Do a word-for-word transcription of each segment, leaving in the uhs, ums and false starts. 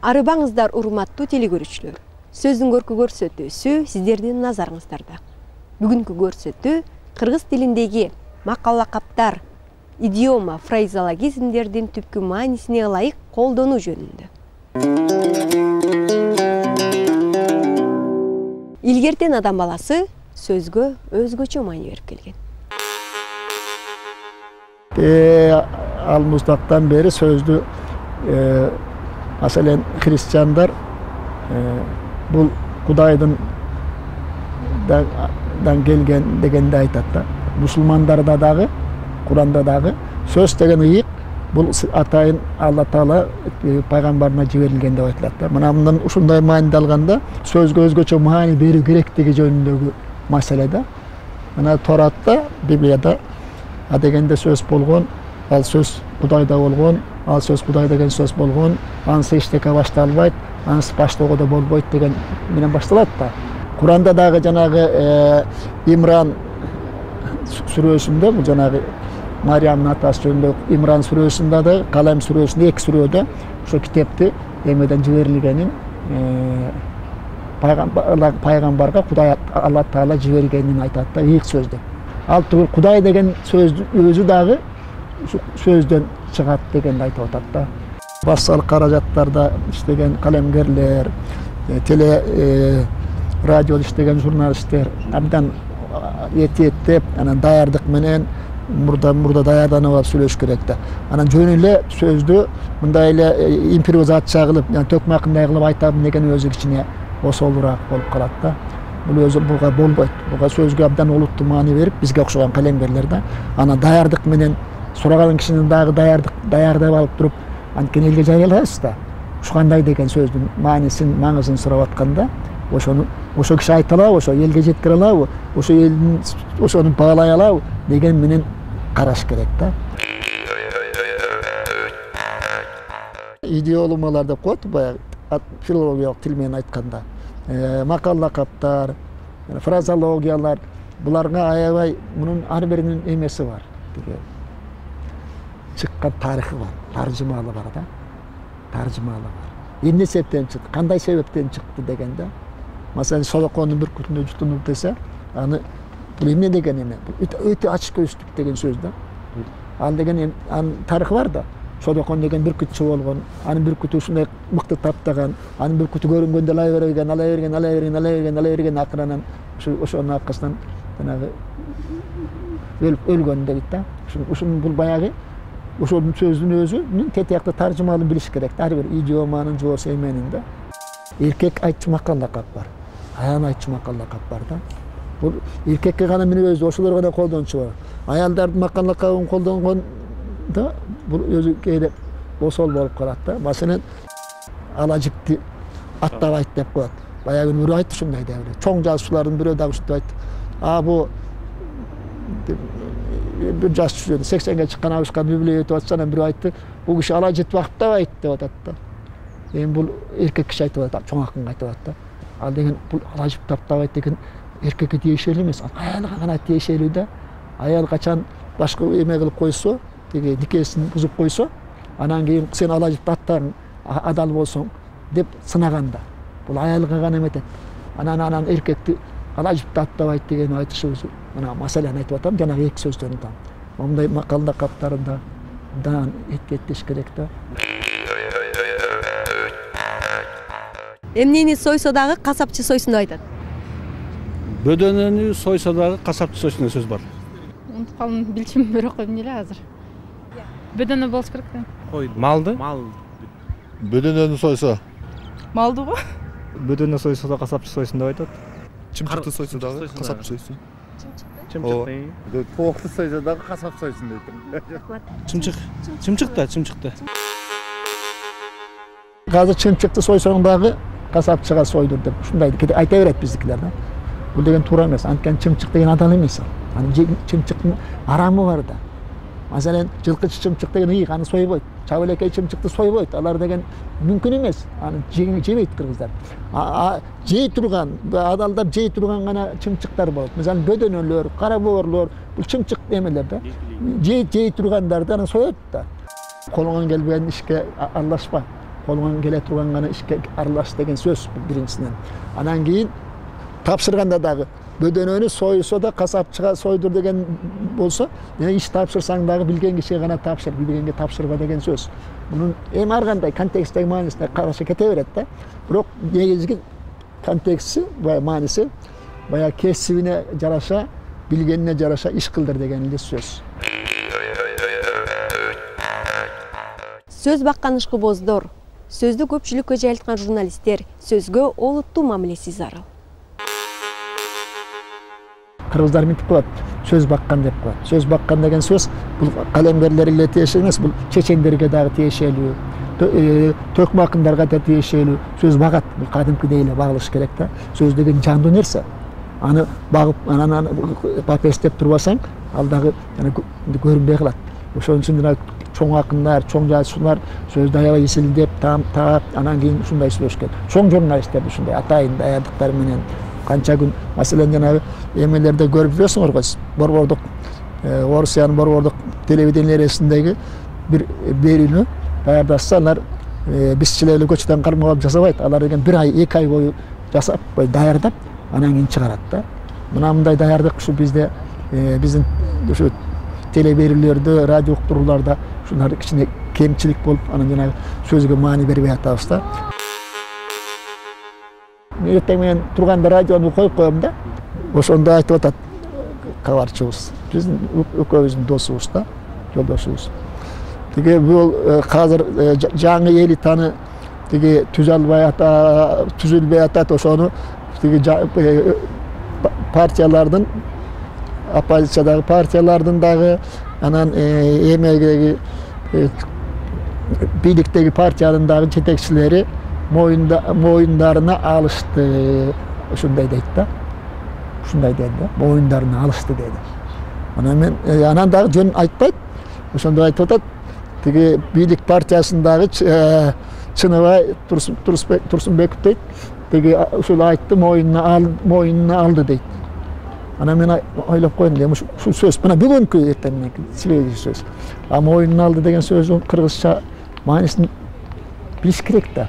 Арыбаңыздар урматтуу телекөрүүчүлөр. Сөздүн көркү көрсөтүүсү сиздердин назарыңыздарда. Бүгүнкү көрсөтүү кыргыз тилиндеги макал-лакаптар, идиома, фразеологизмдердин түпкү маанисине ылайык колдонуу жөнүндө. Илгертен адам баласы сөзгө өзгөчө маани берип келген. Ал муздактан бери сөздү маселен христиандар бул Кудайдын дан келген дегенде айтат да. Мусулмандарда дагы, Куранда дагы сөз деген ыйык бул атайын Алла Таала пайгамбарына жиберилген деп айтылат да. Мына мындан ушундай мааниде алганда сөзгө өзгөчө маани берүү керектиги жөнүндөгү маселе да. Мына Торатта, Библияда а дегенде сөз болгон, ал сөз Кудайда болгон, ал сөз Кудай деген сөз болгон, анысы эчтеке башталбайт, анысы баштоого да болбойт деген менен башталат да. Куранда дагы жанагы Имран сүрөсүндө, бул жанагы Мариямдын атасы жөнүндө Имран сүрөсүндө да, Калам сүрөсүндө, эки сүрөдө ошо китепти эмеден жиберилгенин пайгамбарга Кудай Алла Таала жибергенин айтат да, ыйык сөз деп. Ал түгүл Кудай деген сөздүн өзү дагы сөздөн чыгат дегенди айтып атат да. Бассал каражаттарда иштеген калемгерлер, теле радиодо иштеген журналисттер абдан этиеттеп, анан даярдык менен мурда мурда даярданып алып сүйлөш керек да. Анан жөн эле сөздү мындай эле импровизация кылып, төкмакындай кылып айтам деген өзү кичине осолураак болуп калат да. Бул өзү буга болбойт. Буга сөзгө абдан олуттуу маани берип, бизге окшогон калемгерлер да, ана даярдык менен сураган кишинин дагы даярдык даярдап алып туруп, анткени элге жарыялайбыз да. Ушу кандай деген сөздүн маанисин, маңызын сурап атканда, ошону ошо киши айта алабы, ошо элге жеткире алабы, ошо элдин ошону баалай алабы деген менен караш керек да. Идиомалар деп коет, баягы филологиялык тил менен айтканда. Макал-лакаптар, фразеологиялар, буларга аябай мунун ар биринин эмеси бар. Чыккан тарыхы бар, таржымалы бар да. Таржымалы бар. Эмне себептен чыкты, кандай себептен чыкты дегенде, маселен Солокондун бүркүтүнө жутунуп десе, аны бул эмне деген эме? Бул өтө ачык көздүк деген сөз да. Ал деген анын тарыхы бар да. Солокон деген бүркүтчү болгон, анын бүркүтү ушундай мыкты таптаган, анын бүркүтү көрүнгөндө алай берген, алай берген, алай берген, алай берген, алай берген, акырынан ошонун аркасынан жанагы өлүп өлгөн дейт да. Ушун бул баягы ошонун сөздүн өзүнүн тетиякты таржымалын билиш керек. Ар бир идиоманын жоосу эменин да. Эркек айтчу макал-лакап бар, аял айтчу макал-лакап бар да. Бул эркекке гана мүнөздүү, ошолор гана колдончу бар. Аялдардын макал-лакабын колдонгон да, бул өзү кээде осол болуп калат да. Маселен, ала жипти аттабайт деп коет. Баягы бирөө айтты ушундай да. Чоң жазуучулардын бирөө дагы ушинтип айтты. А бу бир жазуучу сексенге чыккан абышкан библия өтүп атса, анан бирөө айтты, бул киши ала житип актабайт деп атат да. Эми бул эркек киши айтып атат, чоң акынга айтып атат да. Ал деген бул ала житип актабайт деген эркекке тиешелүү эмес, аялга гана тиешелүү да. Аял качан башка эме кылып койсо, теги никесин бузуп койсо, анан кийин сен ала житип аттаң, адал болсоң деп сынаганда. Бул аялга гана эметет. Анан анан эркекти ала житип аттабайт деген айтышыбыз, мына маселени айтып атам, жана эки сөздөн да. Мондай макал-лакаптарында дан эткеттеш керек да. Эмнени сойсо дагы касапчы сойсун деп айтат. Бөдөнөнү сойсо дагы касапчы сойсун деген сөз бар. Унутуп калдым, билчим бирок эмне эле азыр. Бөдөнө болуш керек да. Ой, малды? Мал. Бөдөнөнү сойсо. Малды го? Бөдөнө сойсо да касапчы сойсун деп айтат. Чымчыкты сойсо дагы касапчы сойсун. Чымчыкты. Тоокты сойсо дагы касап сойсун дейт. Чымчык. Чымчыкта, чымчыкта. Азыр чымчыкты сойсоң дагы касапчыга сойдур деп ушундай айта берет биздикилер да. Бул деген туура эмес. Анткени чымчык деген адал эмес. Анын чымчыктын арамы бар да. Маселен, жылкычы чымчык деген ыйык, аны сойбойт. Чабылекей чымчыкты сойбойт. Алар деген мүмкүн эмес. Аны жебейт кыргыздар. А жей турган, адалдап жей турган гана чымчыктар болот. Мисалы, бөдөнөлөр, кара боорлор, бул чымчык эмелер да. Жей жей тургандарды аны соет да. Колуңан келбеген ишке аралашпа. колуңан келе турган гана ишке аралаш деген сөз бул биринчисинен. Анан кийин тапшырганда дагы бөдөнөнү сойсо да касапчыга сойдур деген болсо, иш тапшырсаң дагы билген кишиге гана тапшыр, билгенге тапшырба деген сөз. Мунун эми ар кандай контексттеги маанисине караша кете берет да. Бирок негизги контексти, баягы мааниси баягы кесибине жараша, билгенине жараша иш кылдыр деген эле сөз. Сөз баккан ишкыбоздор, сөздү көпчүлүккө жайылткан журналисттер сөзгө олуттуу мамилеси зарыл. Кыргыздар мынтип коет, сөз баккан деп коет. Сөз баккан деген сөз бул калемгерлерге эле тиешелүү эмес, бул чечендерге дагы тиешелүү, төкмө акындарга да тиешелүү. Сөз багат, бул кадимкидей эле багылыш керек да. Сөз деген жандуу нерсе. Аны багып, анан папестеп турбасаң, ал дагы көрүнбөй калат. Ошон үчүн чоң акындар, чоң жазуучулар сөздү аябай эсилдеп, таап, анан кийин ушундай сүйлөшкөн. Чоң журналисттер ушундай атайын даярдыктар менен канча күн, маселен жанагы эмелерде көрүп жүрөсүңөр го, борбордук Орусиянын борбордук телевидениесиндеги бир берүүнү даярдашса, алар бизчилер эле көчөдөн кармап алып жасабайт. Алар деген бир ай, эки ай бою жасап, даярдап, анан кийин чыгарат да. Мына мындай даярдык ушу бизде, биздин ушу телеберүүлөрдө, радио уктурууларда ушулар кичине кемчилик болуп, анан жанагы сөзгө маани бербей атабыз да. Эртең менен турганда радиону коюп коем да. Ошондо айтып атат кабарчыбыз. Биздин экөөбүздүн досубуз да, жолдошубуз. Тиги бул азыр жаңы элитаны тиги түзө албай ата, түзүлбөй атат, ошону тиги партиялардын, оппозициядагы партиялардын дагы, анан эмегеги бийликтеги партиянын дагы жетекчилери моюндарына алышты, ушундай дейт да. Ушундай дейт да, моюндарына алышты дейт. Анан мен анан дагы жөн айтпайт. Ошондо айтып атат, тиги бийлик партиясындагы Чыныбай Турсунбеков дейт, тиги ушул айтты, моюнуна ал, моюнуна алды дейт. Анан мен ойлоп койдум, эми ушул сөз, мына бүгүнкү эртең мененки себеби сөз. А моюнуна алды деген сөздүн кыргызча маанисин билиш керек да.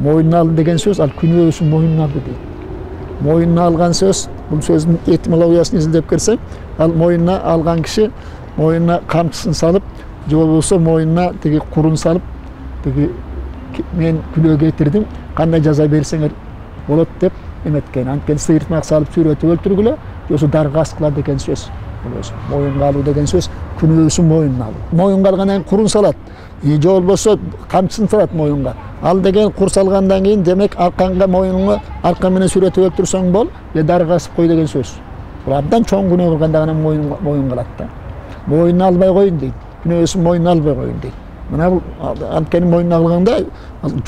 Моюнуна алды деген сөз, ал күнөөсүн моюнуна алды дейт. Моюнуна алган сөз, бул сөздүн этимологиясын изилдеп келсең, ал моюнуна алган киши моюнуна камчысын салып, же болбосо моюнуна тиги курун салып, тиги мен күнөө кетирдим, кандай жаза берсеңер болот деп эметкен. Анткени сыйыртмак салып сүйрөтүп өлтүргүлө, ошо дарга аскыла деген сөз. Моюнга алуу деген сөз күнөөсүн моюнуна алуу. Моюнга алгандан кийин курун салат, же болбосо камчысын салат моюнга. Ал деген кур салгандан кийин демек арканга моюнуңа арка менен сүйрөтүп өлтүрсөң бол, же дарга асып кой деген сөз. Бул абдан чоң күнөө кылганда гана моюнга алат да. Моюнуна албай коюн дейт. Күнөөсүн моюнуна албай коюн дейт. Мына бул анткени моюнуна алганда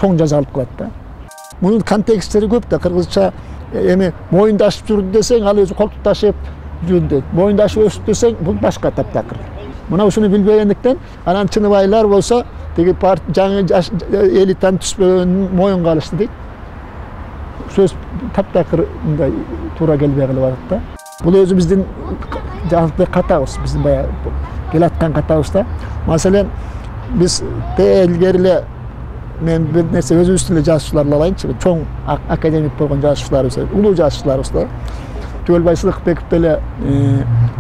чоң жаза алып калат да. Мунун контексттери көп да. Кыргызча эми моюнду ашып жүрдү десең, ал өзү колтук ташып жүрдү дейт. Моюнду ашып өстү десең, бул башка таптакыр. Мына ушуну билбегендиктен анан Чыныбайлар болсо тиги жаңы элитаны түспөгөнүн моюнга алышты дейт. Сөз таптакыр мындай туура келбей калып атат да. Бул өзү биздин жалпы катабыз, биздин баягы келаткан катабыз да. Маселен, биз илгери эле мен бир нерсе өзүбүздүн эле жазуучуларды алайынчы, чоң академик болгон жазуучуларыбыз, улуу жазуучуларыбыз да. Түгөлбай Сыдыкбеков деле,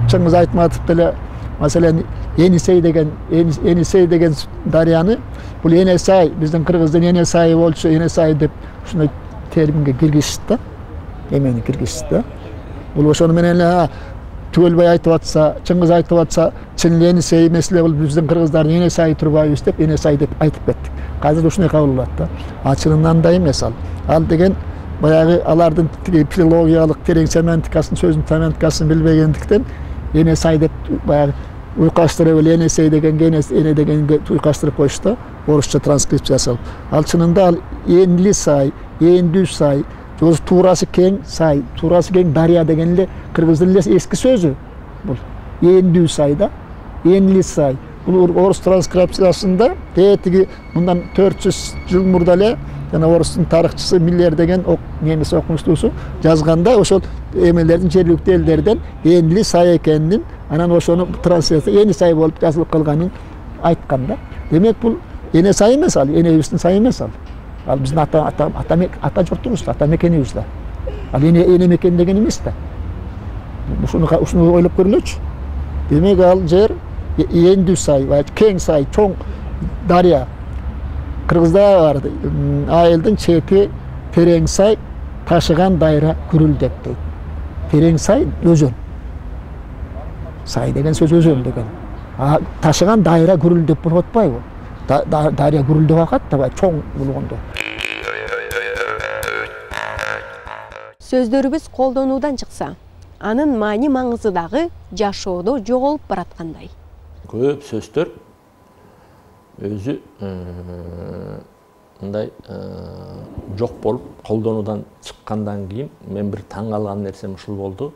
Чыңгыз Айтматов деле, маселен, Енисей деген, Енисей деген дарыяны, бул Енесай, биздин кыргыздын Енесайы болчу, Енесай деп ушундай терминге киргизишти да. Эмени киргизишти да. Бул ошону менен эле Түгөлбай айтып атса, Чыңгыз айтып атса, чын Енисей эмес эле бул биздин кыргыздардын Енесайы турбайбыз деп Енесай деп айтып кеттик. Азыр ушундай кабыл болот да. А чынында андай эмес ал. Ал деген баягы алардын филологиялык терең семантикасын, сөздүн семантикасын билбегендиктен Енесай деп баягы уйкаштырып эле Енесей дегенге Эне дегенге уйкаштырып коюшту, орусча транскрипция жасалып. Ал чынында ал Энли сай, Эндүү сай, туурасы кең сай, туурасы кең дарыя деген эле кыргыздын эле эски сөзү. Бул Эндүү сай да, Энли сай. Бул орус транскрипциясында тиги мындан төрт жүз жыл мурда эле жана орустун тарыхчысы Миллер деген немис окумуштуусу жазганда ошол эмелердин жергиликтүү элдерден Энли сай экенин, анан ошону трансляция Эни сай болуп жазылып калганын айткан да. Демек бул эне сай эмес ал, энебиздин сай эмес ал. Ал биздин ата ата ата ата журтубуз, ата мекенибиз да. Ал эне эне мекен деген эмес да. Ушуну ушуну ойлоп көрүлөчү. Демек ал жер эндүү сай, кең сай, чоң дарыя. Кыргызда бар, айылдын чети терең сай, ташыган дайра күрүлдеп дейт. Терең сай өзөн. Сай деген сөз өзөн деген. А ташыган дайра күрүлдеп болуп атпайбы? Дарыя күрүлдөп акат да, чоң болгондо. Сөздөрүбүз колдонуудан чыкса, анын маани маңызы дагы жашоодо жоголуп бараткандай. Көп сөздөр өзү мындай жок болуп колдонуудан чыккандан кийин мен бир таң калган нерсем ушул болду.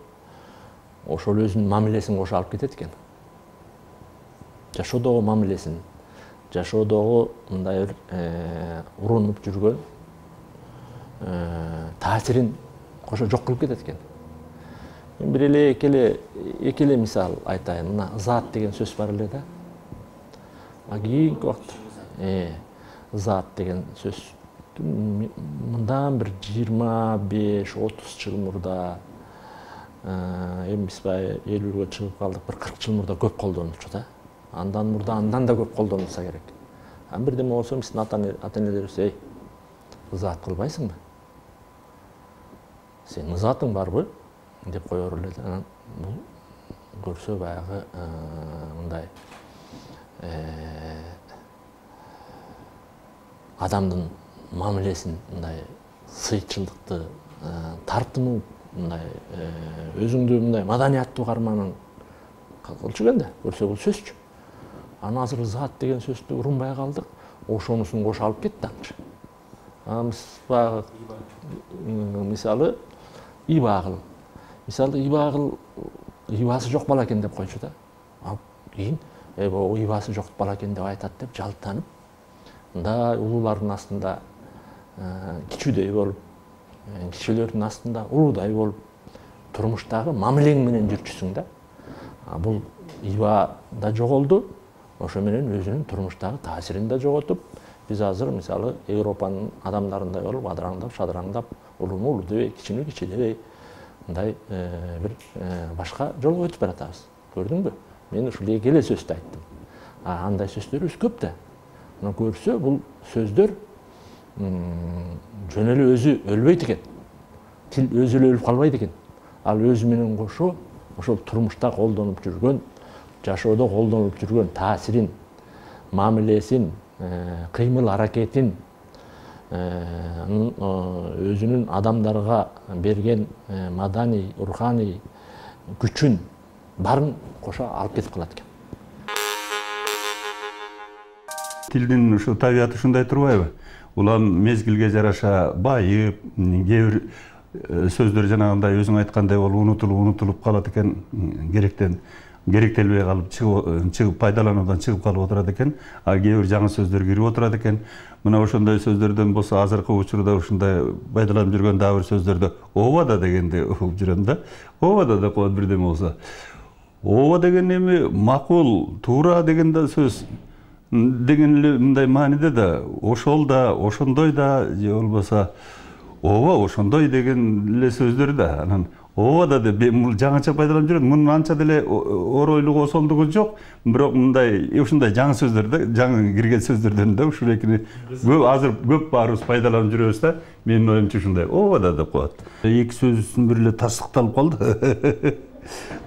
Ошол өзүнүн мамилесин кошо алып кетет экен. Жашоодогу мамилесин, жашоодогу мындай бир урунуп жүргөн таасирин кошо жок кылып кетет экен. Мен бир эле экеле экеле мисал айтайын. Мына зат деген сөз бар эле да. А кийинки убакыт э зат деген сөз мындан бир жыйырма беш отуз жыл мурда, эми биз баягы элүүгө чыгып калдык, бир кырк жыл мурда көп колдонулчу да. Андан мурда андан да көп колдонулса керек. Ан бирдеме болсо биздин ата-энелерибиз эй, зат кылбайсыңбы? Сенин затың барбы? Деп коёр эле. Анан бул көрсө баягы мындай адамдын мамилесин, мындай сыйчылдыкты, тартынуу, мындай өзүңдү мындай маданияттуу карманың кылчу экен да, көрсө бул сөзчү. Аны азыр зат деген сөздү урунбай калдык, ошонусун кошо алып кетти аңчы. Амыз баягы мисалы ибагыл. Мисалы ибагыл ибасы жок бала экен деп койчу да. Ал кийин э бул ибасы жок бала экен деп айтат деп жалтанып, мындай улуулардын астында кичүүдөй болуп, кичилердин астында улуудай болуп, турмуштагы мамилең менен жүрчүсүң да. А бул иба да жоголду, ошо менен өзүнүн турмуштагы таасирин да жоготуп, биз азыр мисалы Европанын адамдарындай болуп, адыраңдап, шадыраңдап, улуу улуу дебей, кичине кичи дебей, мындай бир башка жолго өтүп баратабыз. Көрдүңбү? Мен ушул эки эле сөздү айттым. А андай сөздөрүбүз көп да. Мына көрсө, бул сөздөр жөн эле өзү өлбөйт экен. Тил өзү эле өлүп калбайт экен. Ал өзү менен кошо ошол турмушта колдонуп жүргөн, жашоодо колдонуп жүргөн таасирин, мамилесин, кыймыл аракетин, өзүнүн адамдарга берген маданий, руханий күчүн барын кошо алып кетип калат экен. Тилдин ушу табияты ушундай турбайбы? Улам мезгилге жараша байып, кээ бир сөздөр жанагындай өзүң айткандай болуп унутулуп унутулуп калат экен, керектен керектелбей калып, чыгып пайдалануудан чыгып калып отурат экен, а кээ бир жаңы сөздөр кирип отурат экен. Мына ошондой сөздөрдөн болсо азыркы учурда ушундай пайдаланып жүргөн дагы бир сөздөрдө ооба да дегенди угуп жүрөм да. Ооба да деп коет бирдеме болсо. Ооба деген эми макул, туура деген да сөз деген эле мындай мааниде да, ошол да, ошондой да, же болбосо ооба ошондой деген эле сөздөр да. Анан ооба да деп бул жаңыча пайдаланып жүрөт. Мунун анча деле оройлугу, осолдугу жок, бирок мындай ушундай жаңы сөздөр да, жаңы кирген сөздөрдөн да ушул экини көп азыр көп баарыбыз пайдаланып жүрөбүз да. Менин оюмча ушундай ооба да деп коет. Эки сөзүбүздүн бири эле тастыкталып калды.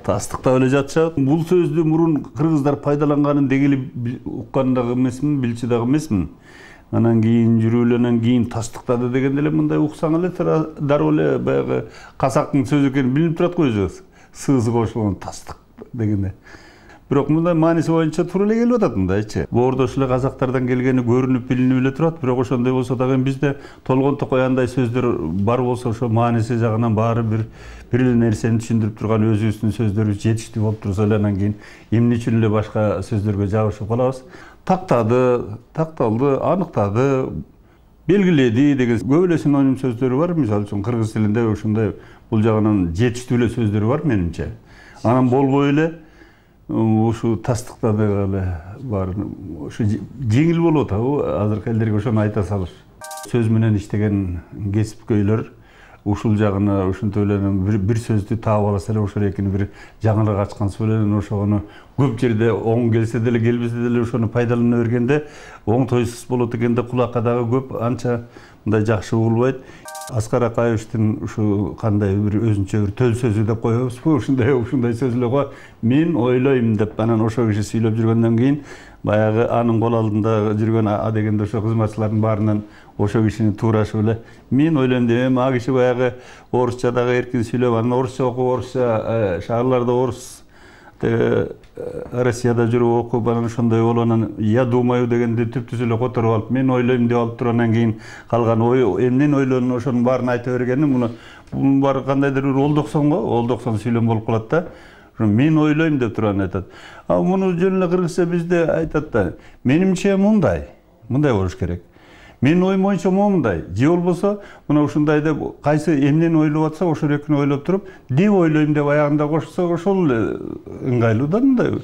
Тастыктап эле жатышат. Бул сөздү мурун кыргыздар пайдаланганын дегели уккан дагы эмесмин, билчү дагы эмесмин. Анан кийин жүрүүлөнөн кийин тастыктады дегенде эле мындай уксаң эле дароо эле баягы казактын сөзү экени билинип турат го өзү. Сызы кошулган тастык дегенде. Бирок мындай мааниси боюнча туура эле келип атат мындайчы. Боордош эле казактардан келгени көрүнүп билинип эле турат, бирок ошондой болсо дагы бизде толгонто кояндай сөздөр бар болсо ошо мааниси жагынан баары бир бир эле нерсени түшүндүрүп турган өзүбүздүн сөздөрүбүз жетиштүү болуп турса эле анан кийин эмне үчүн эле башка сөздөргө жабышып калабыз? Тактады, такталды, аныктады, белгиледи деген көп эле синоним сөздөрү бар. Мисалы үчүн кыргыз тилинде ушундай бул жагынан жетиштүү эле сөздөр бар менимче. Анан болбой эле ушу тастыктады эле бар. Ушу жеңил болуп атабы азыркы элдерге ошону айта салыш. Сөз менен иштеген кесипкөйлөр ушул жагына ушинтип эле бир, бир сөздү таап алса эле ошол экини бир жаңылык ачкан менен ошону көп жерде оң келсе деле келбесе деле ошону пайдалана бергенде оңтойсуз болот экен да кулакка дагы көп анча мындай жакшы угулбайт. Аскар Акаевичтин ушу кандай бир өзүнчө бир төл сөзү деп коебузбу, ушундай ушундай сөзлөргө мен ойлойм деп анан ошо киши сүйлөп жүргөндөн кийин баягы анын кол алдында жүргөн а дегенде ошо кызматчылардын баарынан ошо кишини туурашып эле мен ойлойм деп эми а киши баягы орусча дагы эркин сүйлөп анан орусча окуп орусча шаарларда орус Россияда жүрүп окуп анан ошондой болуп анан я думаю дегенди түптүз эле которуп алып мен ойлойм деп алып туруп анан кийин калган ой эмнени ойлонун ошонун баарын айта бергени муну бунун баары кандайдыр бир олдоксон го олдоксон сүйлөм болуп калат да. Мен ойлойм деп туруп анан айтат. А муну жөн эле кыргызча бизде айтат да. Менимче мындай, мындай болуш керек. Менин оюм боюнча мындай. Же болбосо мына ушундай деп кайсы эмнени ойлоп атса ошол экини ойлоп туруп, деп ойлойм деп аягында кошсо ошол эле ыңгайлуу да мындай.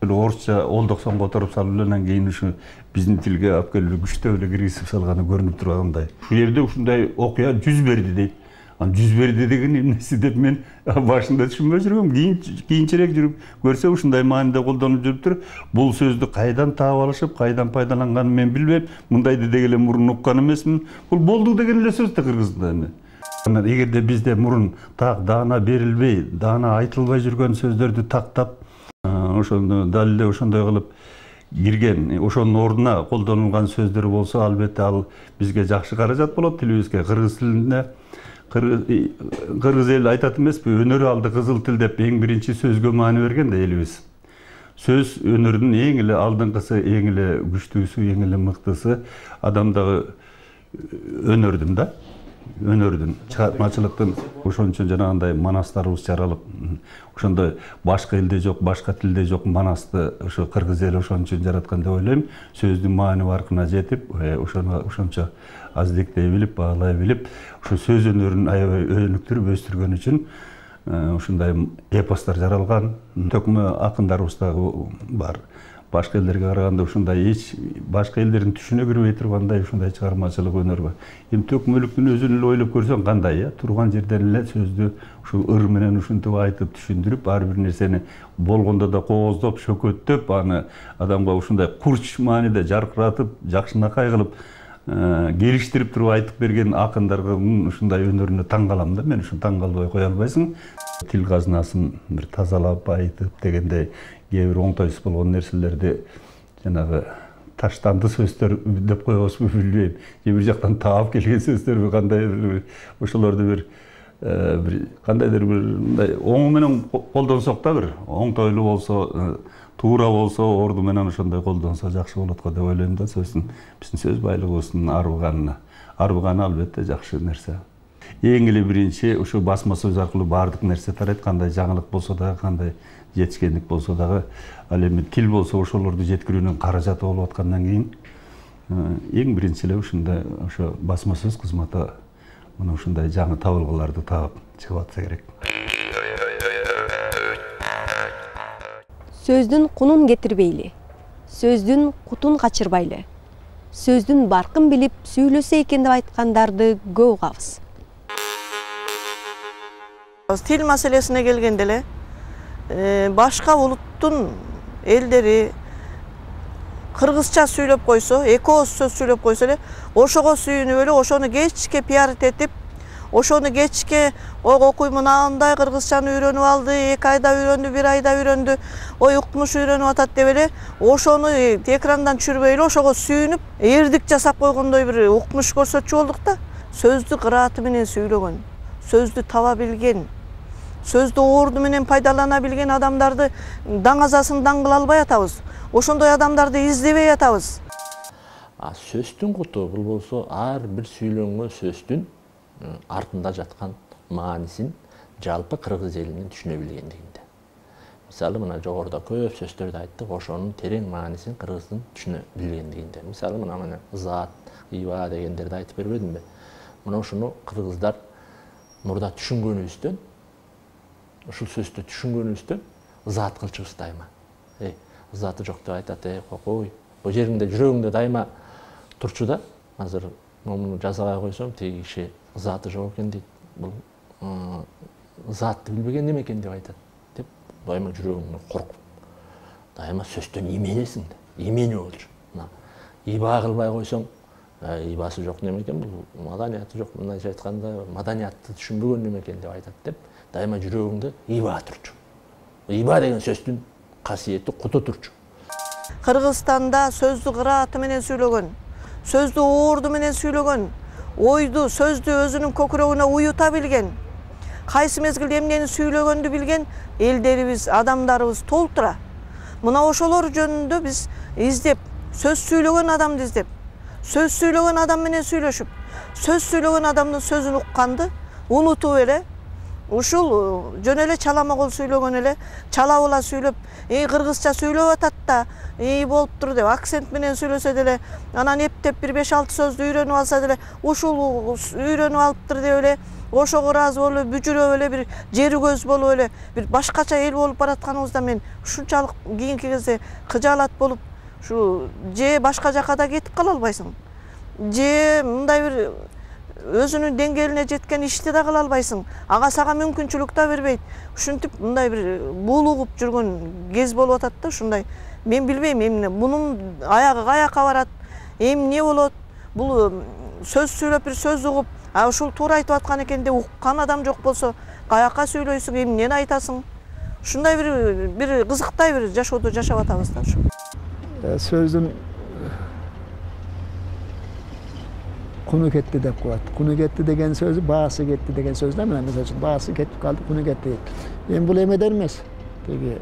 Орусча олдоксон которуп салып эле анан кийин ушу биздин тилге алып келип күчтөп эле киргизип салганы көрүнүп тургандай. Ушул жерде ушундай окуя жүз берди дейт. Анан жүз берди деген эмнеси деп мен башында түшүнбөй жүргөм. Кийин кийинчерээк жүрүп көрсө ушундай мааниде колдонуп жүрүптүр. Бул сөздү кайдан таап алышып, кайдан пайдаланганын мен билбейм. Мындайды деги эле мурун уккан эмесмин. Бул болду деген эле сөз да кыргызда эми. Анан эгерде бизде мурун так даана берилбей, даана айтылбай жүргөн сөздөрдү тактап, ошону дал эле ошондой кылып кирген, ошонун ордуна колдонулган сөздөр болсо, албетте ал бизге жакшы каражат болот тилибизге. Кыргыз тилинде кыргыз эл айтат эмеспи, өнөр алды кызыл тил деп эң биринчи сөзгө маани берген да элибиз. Сөз өнөрдүн эң эле алдыңкысы, эң эле күчтүүсү, эң эле мыктысы адамдагы өнөрдүн да. Өнөрдүн, чыгармачылыктын ошон үчүн жанагындай манастарыбыз жаралып, ошондой башка элде жок, башка тилде жок манасты ошо кыргыз эли ошон үчүн жараткан деп ойлойм. Сөздүн маани баркына жетип, ошону ошончо аздиктей билип, баалай билип, ошо сөз өнөрүн аябай өнүктүрүп өстүргөн үчүн ушундай эпостор жаралган. Төкмө акындарыбыз дагы бар. Башка элдерге караганда ушундай эч башка элдердин түшүнө кирбей тургандай ушундай чыгармачылык өнөр бар. Эми төкмөлүктүн өзүн эле ойлоп көрсөң кандай, э? Турган жерден эле сөздү ушу ыр менен ушинтип айтып түшүндүрүп, ар бир нерсени болгондо да кооздоп, шөкөттөп, аны адамга ушундай курч мааниде жаркыратып, жакшынакай кылып келиштирип туруп айтып берген акындардын ушундай өнөрүнө таң калам да. Мен ушун таң калбай кое албайсың. Тил казынасын бир тазалап айтып дегендей кээ бир оңтойсуз болгон нерселерди жанагы таштанды сөздөр деп коебузбу билбейм. Же бир жактан таап келген сөздөрбү кандайдыр ошолорду бир бир кандайдыр бир мындай оң менен колдонсок да бир оңтойлуу болсо, туура болсо, орду менен ошондой колдонсо жакшы болот го деп ойлойм да. Сөздүн биздин сөз байлыгыбыздын арбыганына. Арбыганы албетте жакшы нерсе. Эң эле биринчи ушу басма сөз аркылуу баардык нерсе тарайт, кандай жаңылык болсо дагы, кандай жетишкендик болсо дагы, ал эми тил болсо ошолорду жеткирүүнүн каражаты болуп аткандан кийин эң биринчи эле ушундай ошо басма сөз кызматы мына ушундай жаңы табылгаларды таап чыгып атса керек. Сөздүн кунун кетирбейли, сөздүн кутун качырбайлы, сөздүн баркын билип сүйлөсө экен деп айткандарды көп угабыз. Тил маселесине келгенде эле башка улуттун элдери кыргызча сүйлөп койсо, эки ооз сөз сүйлөп койсо эле, ошого сүйүнүп эле, ошону кечке пиарит этип, ошону кечке ого окуймун андай кыргызчаны үйрөнүп алды, эки айда үйрөндү, бир айда үйрөндү, ой укмуш үйрөнүп атат деп эле, ошону экрандан түшүрбөй эле ошого сүйүнүп, эрдик жасап койгондой бир укмуш көрсөтчү болдук да. Сөздү кырааты менен сүйлөгөн, сөздү таба билген, сөздү орду менен пайдалана билген адамдарды даңазасын даңгыла албай атабыз. Ошондой адамдарды издебей атабыз. Сөздүн куту бул болсо ар бир сүйлөнгөн сөздүн артында жаткан маанисин жалпы кыргыз элинин түшүнө билгендигинде. Мисалы мына жогоруда көп сөздөрдү айттык, ошонун терең маанисин кыргыздын түшүнө билгендигинде. Мисалы мына мына зат, ыйба дегендерди айтып бербедимби? Мына ушуну кыргыздар мурда түшүнгөнүбүздөн, ушул сөздү түшүнгөнүбүздөн зат кылчубуз дайыма. эй ызаты жок деп айтат, эй кокой бул жериңде жүрөгүңдө дайыма турчу да. Азыр муну жазабай койсом тиги киши ызаты жок экен дейт, бул ызатты билбеген неме экен деп айтат деп дайыма жүрөгүңдөн коркуп дайыма сөздөн именесиң да, имени болчу. Мына иба кылбай койсоң ибасы жок неме экен, бул маданияты жок, мындайча айтканда маданиятты түшүнбөгөн неме экен деп айтат деп дайыма жүрөгүңдө иба турчу. Иба деген сөздүн касиети куту турчу. Кыргызстанда сөздү кырааты менен сүйлөгөн, сөздү уурду менен сүйлөгөн, ойду, сөздү өзүнүн көкүрөгүнө уюта билген, кайсы мезгилде эмнени сүйлөгөндү билген элдерибиз, адамдарыбыз толтура. Мына ошолор жөнүндө биз издеп, сөз сүйлөгөн адамды издеп, сөз сүйлөгөн адам менен сүйлөшүп, сөз сүйлөгөн адамдын сөзүн укканды унутуп эле, ушул жөн эле чаламагол сүйлөгөн эле, чалабыла сүйлөп, эй кыргызча сүйлөп атат да, эй болуптур деп акцент менен сүйлөсө деле, анан эптеп бир беш алты сөздү үйрөнүп алса деле, ушул үйрөнүп алыптыр деп эле, ошого ыраазы болуп эле, бүжүрөп эле, бир жери көз болуп эле, бир башкача эл болуп баратканыбызда мен ушунчалык кийинки кезде кыжаалат болуп, ушу же башка жака да кетип кала албайсың, же мындай бир өзүнүн деңгээлине жеткен ишти да кыла албайсың, ага сага мүмкүнчүлүк да бербейт. Ушинтип мындай бир булугуп жүргөн кез болуп атат да, ушундай. Мен билбейм эмне, мунун аягы каяка барат, эмне болот, бул сөз сүйлөп бир сөз угуп, а ушул туура айтып аткан экен деп уккан адам жок болсо, каяка сүйлөйсүң, эмнени айтасың? Ушундай бир бир кызыктай бир жашоодо жашап атабыз да ушу. Сөздүн куну кетти деп коет. Куну кетти деген сөзү баасы кетти деген сөз да, мына мисалы үчүн баасы кетип калды, куну кетти. Эми бул эмеден эмес. Теги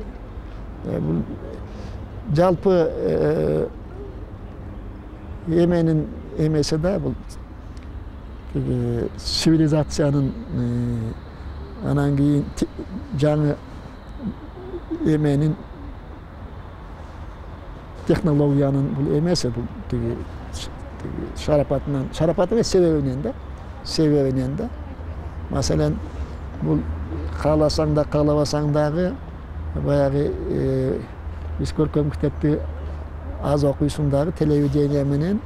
бул жалпы эменин эмеси да, бул теги цивилизациянын анан кийин жаңы эменин технологиянын бул эмеси, бул теги шарапатынан, шарапаты эмес себебинен да, себебинен да. Маселен, бул кааласаң да, каалабасаң дагы баягы биз көркөм китепти аз окуйсуң дагы телевидение менен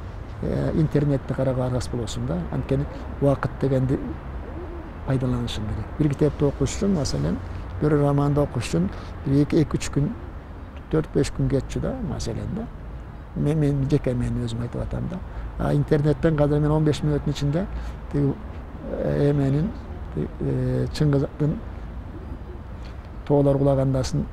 интернетти карап аргас болосуң да. Анткени убакыт дегенди пайдаланышың керек. Бир китепти окуш үчүн, маселен, бир романды окуш үчүн эки үч күн, төрт беш күн кетчү да, маселен да. Мен мен жеке мен өзүм айтып атам да. А интернеттен казыр мен он беш мүнөттүн ичинде эменин Чыңгыздын тоолор кулагандасын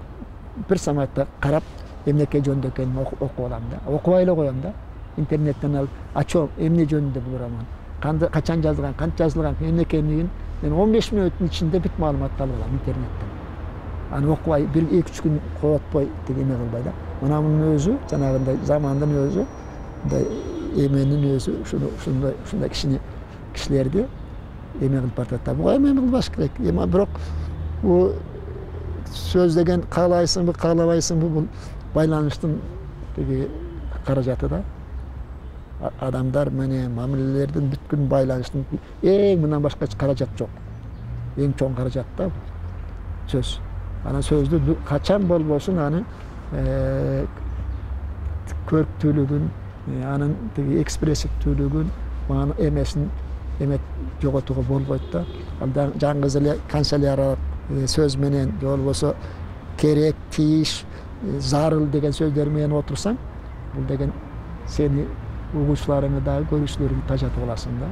бир саматта карап эмнеке жөнүндө экенин окуп алам да. Окубай эле коем да. Интернеттен алып ачам эмне жөнүндө бул роман, кандай качан жазылган, канча жазылган, эмне экенин мен он беш мүнөттүн ичинде бүт маалыматты алып алам интернеттен. Аны окубай бир эки үч күн коотпой деген эме кылбай да. Мына мунун өзү жанагындай замандын өзү, мындай эменин өзү ушундай ушундай кишини кишилерди эме кылып баратат да. Буга эме кылбаш керек. Эми бирок бул сөз деген каалайсыңбы, каалабайсыңбы, бул байланыштын теги каражаты да. Адамдар менен мамилелердин бүткүн байланыштын эң мындан башка каражат жок. Эң чоң каражат да сөз. Анан сөздү качан болбосун аны көрктүүлүгүн, анын теги экспрессивдүүлүгүн, мана эмесин эме жоготууга болбойт да. Жаңгыз эле канцеляриялык сөз менен же болбосо керек, тийиш, зарыл деген сөздөр менен отурсаң, бул деген сени угуучуларыңы дагы көрүүчүлөрүңдү тажатып аласың да.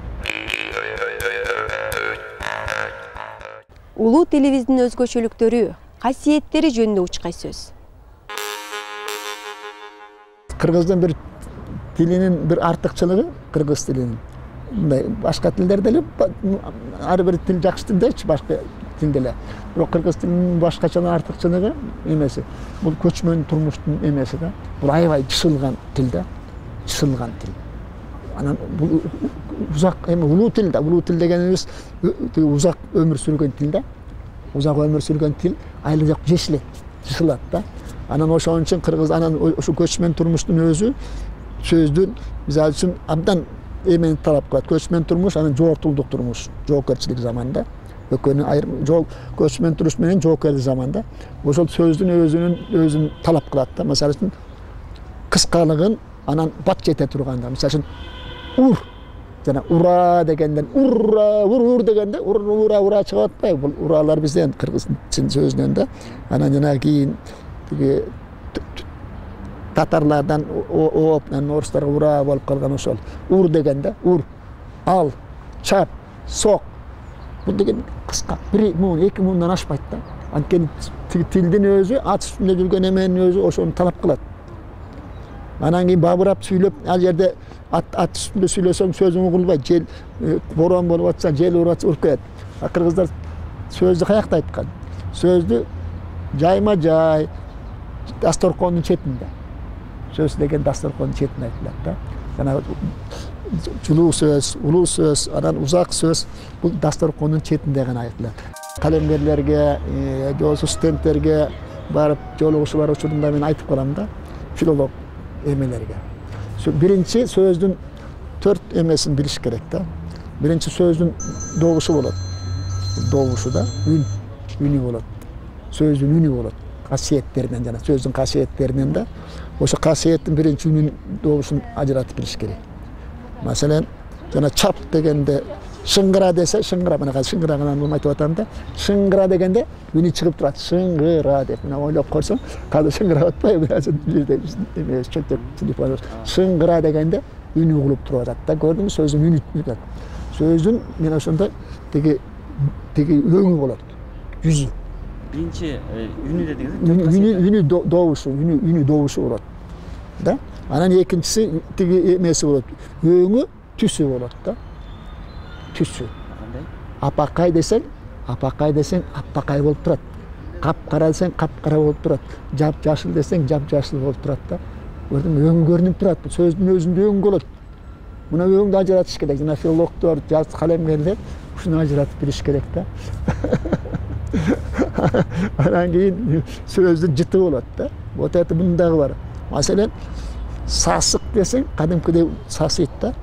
Улуу тилибиздин өзгөчөлүктөрү, касиеттери жөнүндө учкай сөз. Кыргыздын бир тилинин бир артыкчылыгы, кыргыз тилинин. Мындай башка тилдерде эле ар бир тил жакшы тилдечи, башка тилде эле. Бирок кыргыз тилинин башкача артыкчылыгы эмеси, бул көчмөн турмуштун эмеси да. Бул аябай чысылган тил да. Чысылган тил. Анан бул узак эми улуу тил да. Улуу тил дегенибиз узак өмүр сүргөн тил да. Узак өмүр сүргөн тил айлап жешилет, чысылат да. Анан ошон үчүн кыргыз анан ошо көчмөн турмуштун өзү сөздүн мисалы үчүн абдан эмени талап кылат. Көчмөн турмуш, анан жоортулдук турмуш, жоопкерчилик заманда. экөөнүн айрым жол көчмөн туруш менен жоокерлик заманда ошол сөздүн өзүнүн өзүн талап кылат да. Мисалы үчүн кыскалыгын анан бат жете турганда, мисалы үчүн ур жана ура дегенден ура ур ур дегенде ура ура чыгып атпайбы? Бул уралар бизден кыргыз сөзүнөн да. Анан жана кийин тиги татарлардан ооп, анан орустарга ура болуп калган ошол. Ур дегенде ур, ал, чап, сок. Бул деген кыска, бир муун, эки муундан ашпайт да. Анткени тилдин өзү, ат үстүндө жүргөн эменин өзү ошону талап кылат. Анан кийин бабырап сүйлөп, ал жерде ат ат үстүндө сүйлөсөң сөзүң угулбайт. Жел борон болуп атса, жел уруп атса уруп кетет. А кыргыздар сөздү каякта айткан? Сөздү жайма жай дасторкондун четинде. Сөз деген дасторкондун четинде айтылат да. Жана жылуу сөз, улуу сөз, анан узак сөз бул дасторкондун четинде гана айтылат. Калемгерлерге, же болбосо студенттерге барып жолугушуулар учурунда мен айтып калам да, филолог эмелерге. Биринчи сөздүн төрт эмесин билиш керек да. Биринчи сөздүн добушу болот. Добушу да үн, үнү болот. Сөздүн үнү болот. Касиеттеринен жана сөздүн касиеттеринен да ошо касиеттин биринчи үнүн добушун ажыратып билиш керек. Маселен, жана чап дегенде шыңгыра десе, шыңгыра, мына шыңгыра гана айтып атам да. Шыңгыра дегенде үнү чыгып турат. Шыңгыра деп мына ойлоп койсоң, кадыр шыңгыра атпайбы? Жерде эмес чөтөк телефон. Шыңгыра дегенде үнү угулуп туруп атат да. Көрдүңүз, сөздүн үнү турат. Сөздүн мен ошондо тиги тиги өңү болот. Жүзү. Биринчи үнү дедиңиз? Үнү үнү добушу, үнү үнү добушу болот. Да? Анан экинчиси тиги эмеси болот. Өңү түсү болот да. Түсү. Кандай? Апакай десең, апакай десең, апакай болуп турат. Капкара десең, капкара болуп турат. Жап-жашыл десең, жап-жашыл болуп турат да. Көрдүңбү, өң көрүнүп турат. Сөздүн өзүндө өң болот. Мына өңдү ажыратыш керек. Жана филологдор, жаз калемгерлер ушуну ажыратып билиш керек да. Анан кийин сөздүн жыты болот да. Вот это мындагы бар. Маселен, сасык десең, кадимкидей сасыйт да.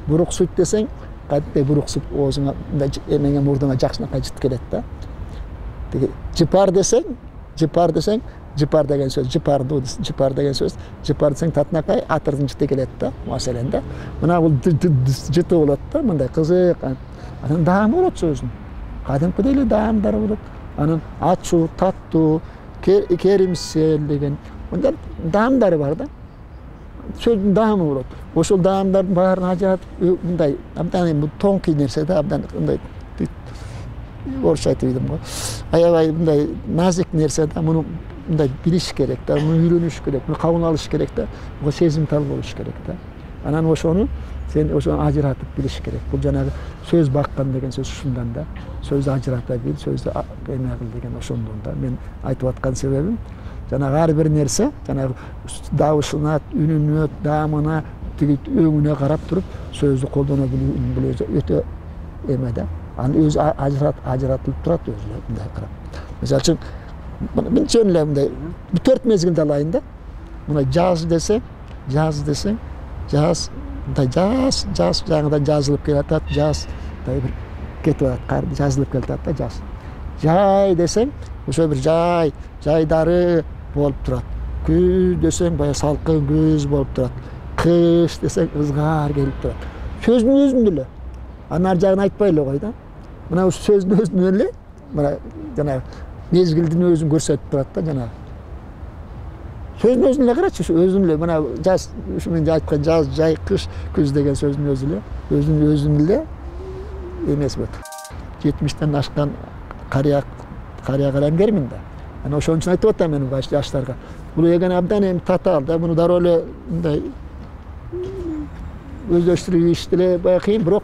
Буруксуйт десең, кадимки буруксуп оозуңа эмеңе мурдуңа жакшынакай жыт келет да. Тиги жыпар десең, жыпар десең, жыпар деген сөз, жыпарду, жыпар деген сөз, жыпар десең татынакай атырдын жыты келет да. Маселен да. Мына бул жыты болот да, мындай кызык. Анан даамы болот сөздүн. Кадимкидей эле даамдары болот. Анан ачуу, таттуу, керимсел деген мындай даамдары бар да. Сөздүн даамы болот. Ошол даамдардын баарын ажыратып мындай абдан эми тонкий нерсе да, абдан мындай орусча айтып ийдим го. Аябай мындай назик нерсе да, муну мындай билиш керек да, муну үйрөнүш керек, муну кабыл алыш керек да, буга сезимтал болуш керек да. Анан ошону сен ошону ажыратып билиш керек. Бул жанагы сөз баккан деген сөз ушундан да. Сөздү ажырата бил, сөздү эме кыл деген ошондон да. Мен айтып аткан себебим жанагы ар бир нерсе, жанагы дабышына, үнүнө, даамына, тиги өңүнө карап туруп сөздү колдоно билүү өтө эме да. Аны өзү ажырат ажыратылып турат өзү мындай карап. Мисалы үчүн мен жөн эле мындай төрт мезгилде алайын да. Мына жаз десең, жаз десең, жаз мындай жаз, жаз жаңыдан жазылып келатат, жаз мындай бир кетип атат, кар жазылып келатат да жаз. Жай десең, ошо бир жай, жайдары болуп турат. Күз десең, бая салкын күз болуп турат. Кыш десең, ызгар келип турат. Сөздүн өзүндө эле. Анын ар жагын айтпай эле кой да. Мына ушу сөздүн өзүндө эле, мына жана мезгилдин өзүн көрсөтүп турат да жана. Сөздүн өзүн эле карачы, өзүн эле мына жаз, ушу мен айткан жаз, жай, кыш, күз деген сөздүн өзү эле, өзүн өзүн эле эмес болот. жетимиштен ашкан карыя карыя калемгермин да. Анан ошон үчүн айтып атам мен баш жаштарга. Бул деген абдан эми татаал да, муну дароо эле мындай өздөштүрүп иш деле бая кыйын, бирок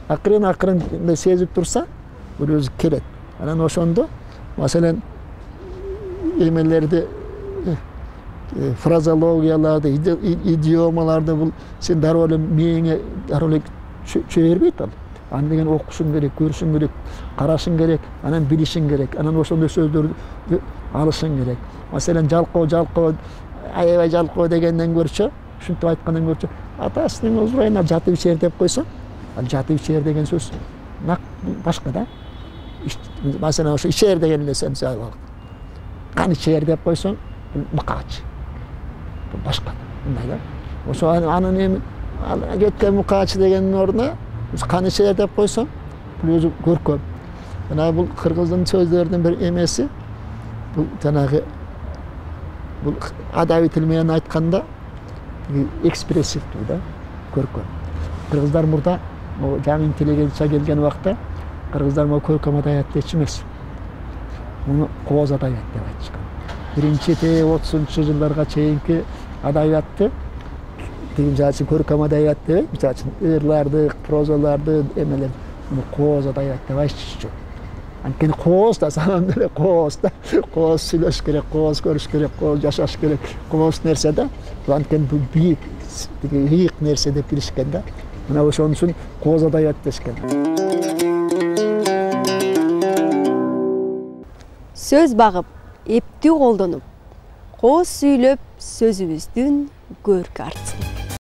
акырын акырын мындай сезип турса, бул өзү келет. Анан ошондо маселен эмелерди фразологияларды, идиомаларды бул сен дароо эле мээңе дароо эле чөй бербейт ал. Аны деген окушуң керек, көрүшүң керек, карашың керек, анан билишиң керек, анан ошондой сөздөрдү алышың керек. Маселен жалкоо, жалкоо, аябай жалкоо дегенден көрчө, ушинтип айткандан көрчө, атасынын узурайына жатып ичер деп койсо, ал жатып ичер деген сөз башка да. Masalan ошо ичер деген эле сен мисалы кан ичер деп койсоң бул мукач. Бул башка мындай да. Ошо анын эми кеткен мукач дегендин ордуна кан ичер деп койсоң бул өзү көркөм. Мына бул кыргыздын сөздөрүнүн бир эмеси бул жанагы бул адабий тил менен айтканда экспрессивдүү да, көркөм. Кыргыздар мурда жаңы интеллигенция келген убакта кыргыздар могу көркөм адабият дечү эмес. Муну кооз адабият деп айтышкан. Биринчи отузунчу жылдарга чейинки адабиятты тиги жаачы көркөм адабият деп, мисалы үчүн ырларды, прозаларды, эмелер муну кооз адабият деп айтышчу. Анткени кооз да саман эле кооз да, кооз сүйлөш керек, кооз көрүш керек, кооз жашаш керек, кооз нерсе да. Бул анткени бул бийик, тиги ыйык нерсе деп билишкен да. Мына ошон үчүн кооз адабият дешкен. Сөз багып, эптүү колдонуп, кооз сүйлөп сөзүбүздүн көркү артсын.